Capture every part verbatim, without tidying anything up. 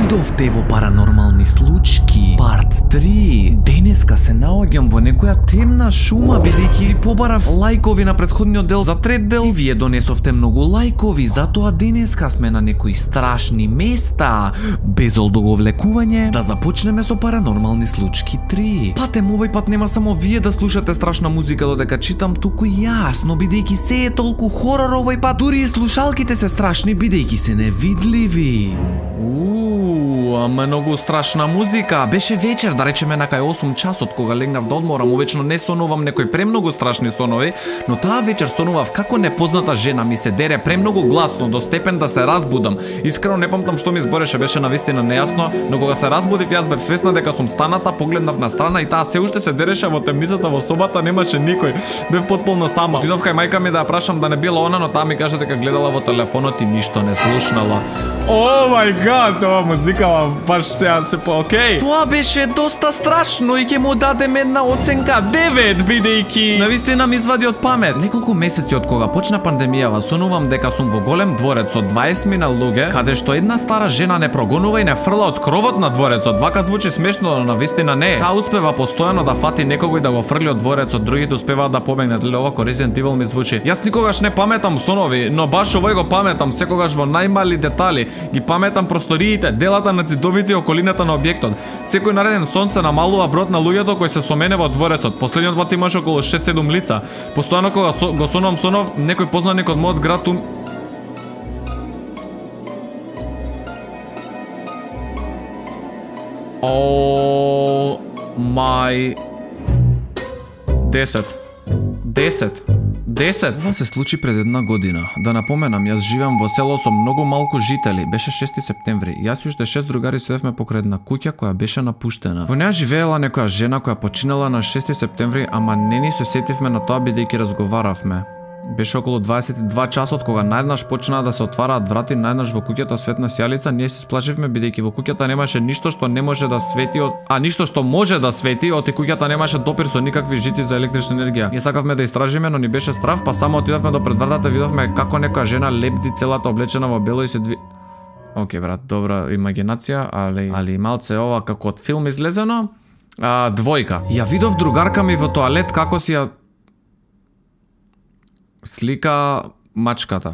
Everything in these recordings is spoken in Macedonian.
видовте во Паранормални случки, парт три. Денеска се наоѓам во некоја темна шума, бидејќи побарав лајкови на претходниот дел за трет дел и вие донесовте многу лајкови, затоа денеска сме на некои страшни места. Без одоговлекување, да започнеме со Паранормални случки три. Патем, овој пат нема само вие да слушате страшна музика додека читам, туку јас, но бидејќи се е толку хорор овој пат, дури и слушалките се страшни бидејќи се невидливи. Ууу, многу страшна музика. Беше вечер, да речеме на кај осум часот, кога легнав да одморам. Обично не сонувам некои премногу страшни сонови, но таа вечер сонував како непозната жена ми се дере премногу гласно до степен да се разбудам. Искрено не памтам што ми збореше, беше навистина нејасно, но кога се разбудив јас бев свесна дека сум станата, погледнав на страна и таа се уште се дереше во темницата во собата, немаше никој. Бев потполно сама. Отидов кај мајка ми да ја прашам да не била она, но таа ми каже дека гледала во телефонот и ништо не слушнала. О мај гад, ова музика баш сега се по окей. Тоа беше доста страшно и ќе му дадем една оценка девет, бидејќи навистина ми извади од памет. Неколку месеци од кога почна пандемијава, сонувам дека сум во голем дворец со дваесет мина луѓе, каде што една стара жена не прогонува и не фрла од кровот на дворецот. Вака звучи смешно, но навистина не. Таа успева постојано да фати некого и да го фрли од дворецот, другите успеваат да побегнат. Леле, ова Resident Evil ми звучи. Јас никогаш не паметам сонови, но баш овој го паметам, секогаш во најмали детали. Ги паметам просториите, делата на цидовите и околината на објектот. Секој нареден сон се намалува бројот на луѓето кои се со мене во дворецот. Последниот пат имаше околу шест-седум лица. Постојано кога со, го сонувам сонов, некој познаник од мојот град ум... О мај... десет. Десет. Десет. Ова се случи пред една година. Да напоменам, јас живеам во село со многу малку жители. Беше шести септември. Јас и уште шест другари седевме покрај една куќа која беше напуштена. Во неа живеела некоја жена која починала на шести септември, ама не ни се сетивме на тоа бидејќи разговаравме. Беше околу дваесет и два часот кога најднаш почнаа да се отвараат врати, најднаш во куќата светна сјалица. Ние се сплашивме бидејќи во куќата немаше ништо што не може да свети од... а ништо што може да свети, од и куќата немаше допир со никакви жици за електрична енергија. Ние сакавме да истражиме, но ни беше страв, па само отидовме до пред вратата, видовме како некоја жена лепти целата облечена во бело и се дви... Океј брат, добра имагинација, али али малце ова како од филм излезено. А, двојка. Ја видов другарка ми во тоалет како си ја слика мачката.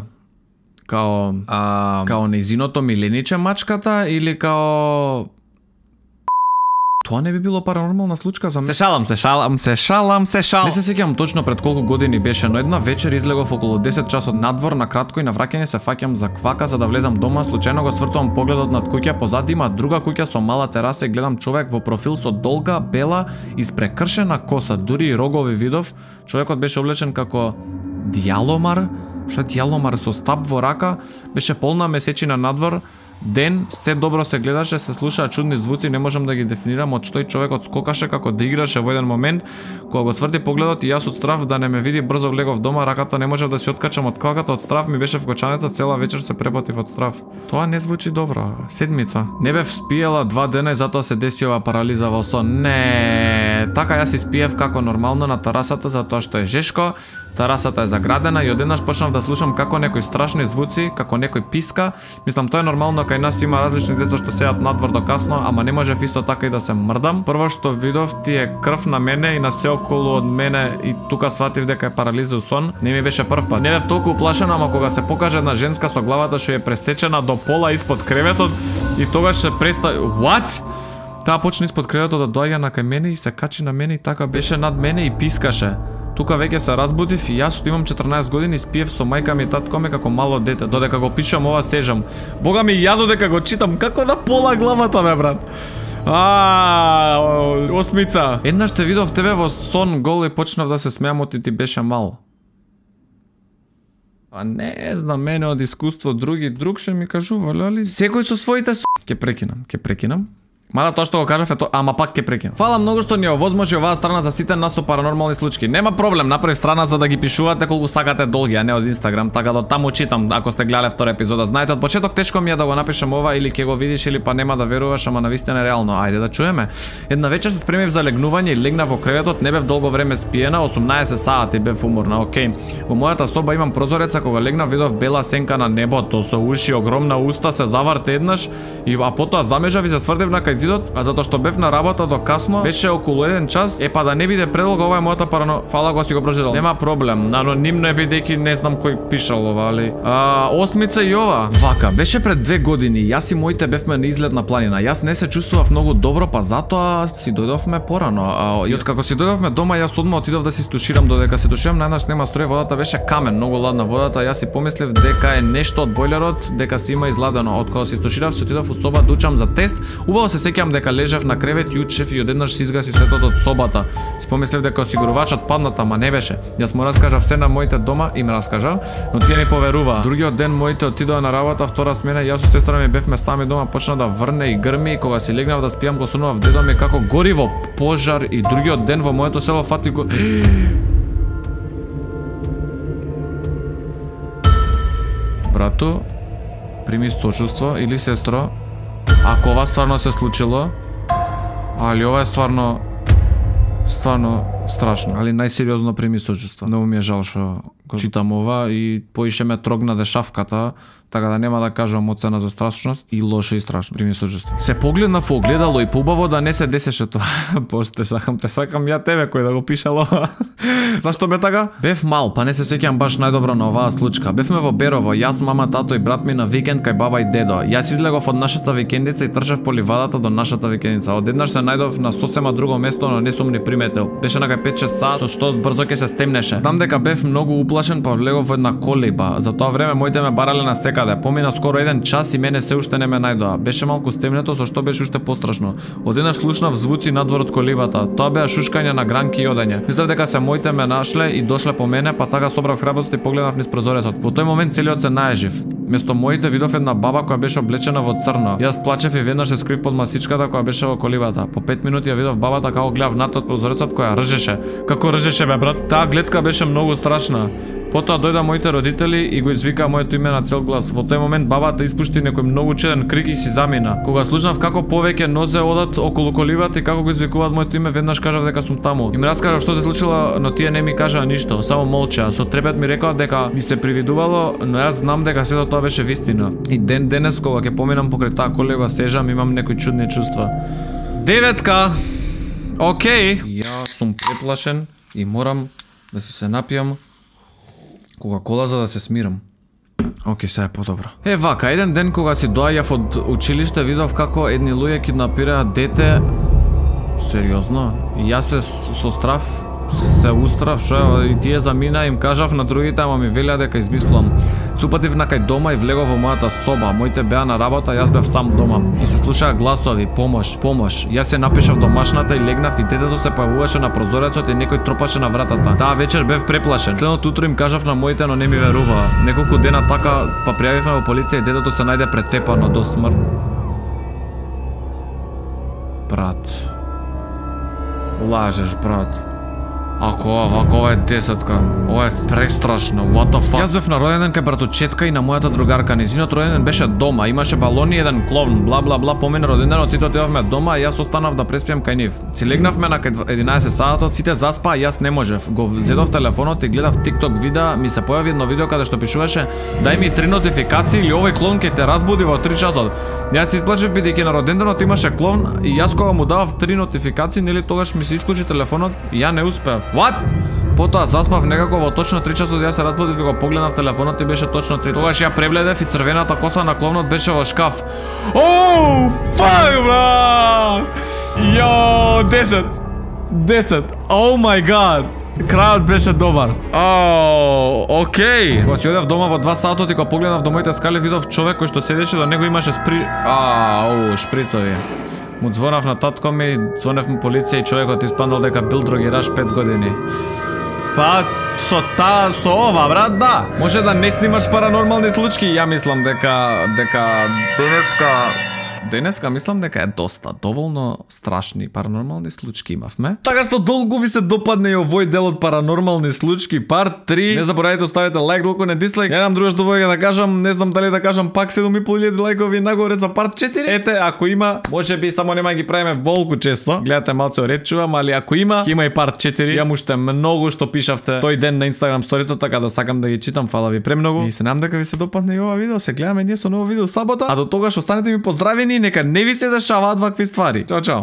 Као а... као нејзиното милениче мачката или као... Тоа не би било паранормална случка за мене. Се шалам, се шалам, се шалам, се шалам. Не се сеќавам точно пред колку години беше, но една вечер излегов околу десет часот надвор на кратко и на враќање се фаќам за квака за да влезам дома, случајно го свртувам погледот над куќа, позади има друга куќа со мала тераса и гледам човек во профил со долга, бела, испрекршена коса, дури и рогови видов. Човекот беше облечен како дјаломар, што дјаломар со стап во рака, беше полна месечина надвор. Ден, се добро се гледаше, се слушаа чудни звуци, не можам да ги дефинирам од што и човекот скокаше како да играше во еден момент. Кога го сврти погледот и јас од страв да не ме види, брзо влегов дома, раката не можев да се откачам од клаката, од страв ми беше вкочането, цела вечер се препатив од страв. Тоа не звучи добро. Седмица. Не бев спиела два дена и затоа се деси ова парализа во сон. Не, така јас испиев како нормално на терасата затоа што е жешко. Терасата е заградена и одеднаш почнав да слушам како некои страшни звуци, како некој писка. Мислам тоа е нормално, кај нас има различни деца што сеат надвор до касно, ама не можев исто така и да се мрдам. Прво што видов ти е крв на мене и на се околу од мене и тука сватив дека е парализа у сон. Не ми беше прв пат. Не бев толку уплашена, ама кога се покаже една женска со главата што е пресечена до пола испод креветот и тогаш се преста... What? Таа почна испод креветот да доаѓа на кај мене и се качи на мене и така беше над мене и пискаше. Тука веќе се разбудив и јас што имам четрнаесет години спиев со мајка ми и татко ми како мало дете. Додека го пишам ова сежам. Бога ми ја додека го читам како на пола главата ме брат. А, осмица. Еднаш те видов тебе во сон гол и почнав да се смеам оти ти беше мал. А не знам, мене од искуство други друг ше ми кажува, али секој со своите с... Ке прекинам, ке прекинам. Мада тоа што го кажав е тоа, ама пак ќе прекинам. Фала многу што ни овозможи оваа страна за сите нас со паранормални случаи. Нема проблем, направи страна за да ги пишувате колку сакате долги, а не од Инстаграм, така да таму читам ако сте гледале втора епизода. Знаете, од почеток тешко ми е да го напишам ова или ќе го видиш или па нема да веруваш, ама навистина е реално. Ајде да чуеме. Една вечер се спремив за легнување и легнав во креветот, не бев долго време спиена, осумнаесет сати бев уморна. Океј. Во мојата соба имам прозореца, кога легнав видов бела сенка на небото со уши, огромна уста, се заврте еднаш и а потоа замежав и се сврдев на кај зидот, а затоа што бев на работа до касно, беше околу еден час. Е па да не биде предолго, ова е мојата парано. Фала го си го прочитал. Нема проблем. Анонимно е бидејќи не знам кој пишал ова, али. А, осмица и ова. Вака, беше пред две години. Јас и моите бевме на излет на планина. Јас не се чувствував многу добро, па затоа си дојдовме порано. А, и откако си дојдовме дома, јас одма отидов да си стуширам, додека се туширам, најнаш нема струја, водата беше камен, многу ладна водата. Јас си помислив дека е нешто од бойлерот, дека си има изладено. Откога си стуширав, се отидов у соба да учам за тест. Убаво се сеќам дека лежев на кревет и учев и одеднаш се изгаси светот од собата. Си помислив дека осигурувачот падната, ама не беше. Јас му раскажав се на моите дома, им раскажав, но тие ми поверуваа. Другиот ден моите отидоа на работа, втора смена, јас со сестра ми бевме сами дома, почна да врне и грми, и кога си легнав да спијам, го сонував дедо ми како гори во пожар, и другиот ден во моето село фати го... Брату, прими сочувство, или сестро, ако ова стварно се случило, али ова е стварно, стварно страшно, али најсериозно прими сочувство. Многу ми е жал што го читам ова и поише ме трогна дешавката, така да нема да кажам оцена за страшност и лошо и страшно. Прими сочувство. Се погледнав во огледало и поубаво да не се десеше тоа. Посте сакам, те сакам ја тебе кој да го пишал ова. Зашто бе така? Бев мал, па не се сеќам баш најдобро на оваа случка. Бевме во Берово, јас, мама, тато и брат ми на викенд кај баба и дедо. Јас излегов од нашата викендица и трчав по ливадата до нашата викендица. Одеднаш се најдов на сосема друго место, но не сум ни приметил. Беше на кај пет-шест сат, со што брзо ќе се стемнеше. Знам дека бев многу уплашен, па влегов во една колиба. За тоа време моите ме барале на секаде. Помина скоро еден час и мене се уште не ме најдоа. Беше малку стемнето, со што беше уште пострашно. Одеднаш слушнав звуци надвор од колибата. Тоа беа шушкање на гранки и одење. Мислев дека се моите ме нашле и дошле по мене, па така собрав храброст и погледнав низ прозорецот. Во тој момент целиот се наежив. Место моите видов една баба која беше облечена во црно. Јас плачев и веднаш се скрив под масичката која беше во колибата. По пет минути ја видов бабата како гледав над прозорецот која ржеше. Како ржеше бе брат? Таа гледка беше многу страшна. Потоа дојда моите родители и го извика моето име на цел глас. Во тој момент бабата испушти некој многу чеден крик и си замина. Кога слушнав како повеќе нозе одат околу колибата и како го извикуваат моето име, веднаш кажав дека сум таму. Им раскажав што се случило, но тие не ми кажаа ништо, само молчаа. Со трепет ми рекоа дека ми се привидувало, но јас знам дека сето тоа беше вистина. И ден денес кога ќе поминам покрај таа колиба сежам, имам некои чудни чувства. Деветка. Океј. Јас сум преплашен и морам да си се напијам Кока-кола за да се смирам. Океј, сега е подобро. Е, вака, еден ден кога си доаѓав од училиште, видов како едни луѓе киднапираат дете. Сериозно? И јас се со страв се устрав, што и тие замина, им кажав на другите, ама ми велеа дека измислувам. Супатив на кај дома и влегов во мојата соба. Моите беа на работа, јас бев сам дома. И се слушаа гласови, помош, помош. Јас се напишав домашната и легнав и детето се појавуваше на прозорецот и некој тропаше на вратата. Таа вечер бев преплашен. Следното утро им кажав на моите, но не ми веруваа. Неколку дена така, па пријавивме во полиција и детето се најде претепано до смрт. Брат. Лажеш, брат. Ако ова, ако ова е десетка, ова е престрашно, what the fuck. Јас бев на роденден кај братучетка и на мојата другарка. Низинот роденден беше дома, имаше балони и еден кловн, бла бла бла. Помина роденденот, сите отидовме дома, и јас останав да преспијам кај нив. Си легнавме на кај единаесет сатот, сите заспаа, јас не можев. Го зедов телефонот и гледав TikTok видеа, ми се појави едно видео каде што пишуваше: дај ми три нотификации или овој кловн ќе те разбуди во три часот. Јас се исплашив бидејќи на роденденот имаше кловн и јас кога му давав три нотификации, нели тогаш ми се исклучи телефонот и ја не успеав. What? Потоа заспав некако во точно три часот, јас се разбудив и го погледнав телефонот и беше точно три. Тогаш ја прегледав и црвената коса на кловнот беше во шкаф. Оу, фак, брат! Јо, десет. десет. Оу мај гад. Крајот беше добар. Оу, окей. Кога си одев дома во два сатот и кога погледнав до моите скали, видов човек кој што седеше до него имаше спри... Ау, шприцови. Му звонав на татко ми, звонев му полиција и човекот испаднал дека бил другираш пет години. Па, со та, со ова, брат, да. Може да не снимаш паранормални случаи, ја мислам дека дека денеска Денеска мислам дека е доста, доволно страшни паранормални случаи имавме. Така што долго ви се допадне и овој дел од паранормални случаи, парт три. Не заборавајте оставите лайк, долго не дислайк. Ја нам друго што воја да кажам, не знам дали да кажам пак седум и пол илјади лајкови нагоре за парт четири. Ете, ако има, може би само нема ги правиме волку често. Гледате малце оречувам, али ако има, има и парт четири. Ја уште многу што пишавте тој ден на Instagram сторито, така да сакам да ги читам. Фала ви премногу. И се надам дека ви се допадне и ова видео. Се гледаме ние со ново видео сабота. А до тогаш останете ми поздравени и нека не ви се дешаваат вакви ствари. Чао, чао.